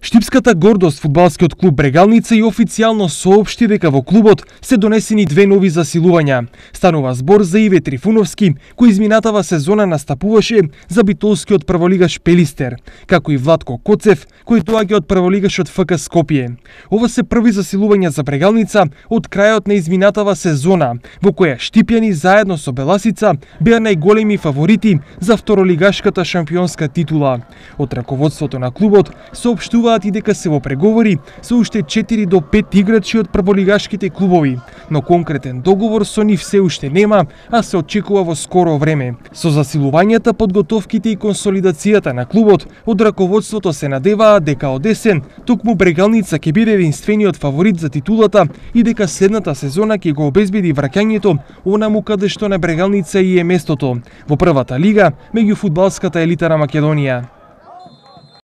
Штипската гордост, фудбалскиот клуб Брегалница, и официјално соопшти дека во клубот се донесени две нови засилувања. Станува збор за Иве Трифуновски, кој изминатава сезона настапуваше за битолскиот прволигаш Пелистер, како и Владко Коцев, кој доаѓа од прволигашот ФК Скопје. Ова се први засилувања за Брегалница од крајот на изминатава сезона, во која штипјани заедно со Беласица беа најголеми фаворити за второлигашката шампионска титула. Од раководството на клубот соопштуваат и дека се во преговори со уште 4 до 5 играчи од прволигашките клубови, но конкретен договор со нив се уште нема, а се очекува во скоро време. Со засилувањата, подготовките и консолидацијата на клубот, од раководството се надеваат дека од есен токму Брегалница ќе биде единствениот фаворит за титулата и дека следната сезона ќе го обезбеди враќањето онаму каде што на Брегалница и е местото, во првата лига меѓу фудбалската елита на Македонија.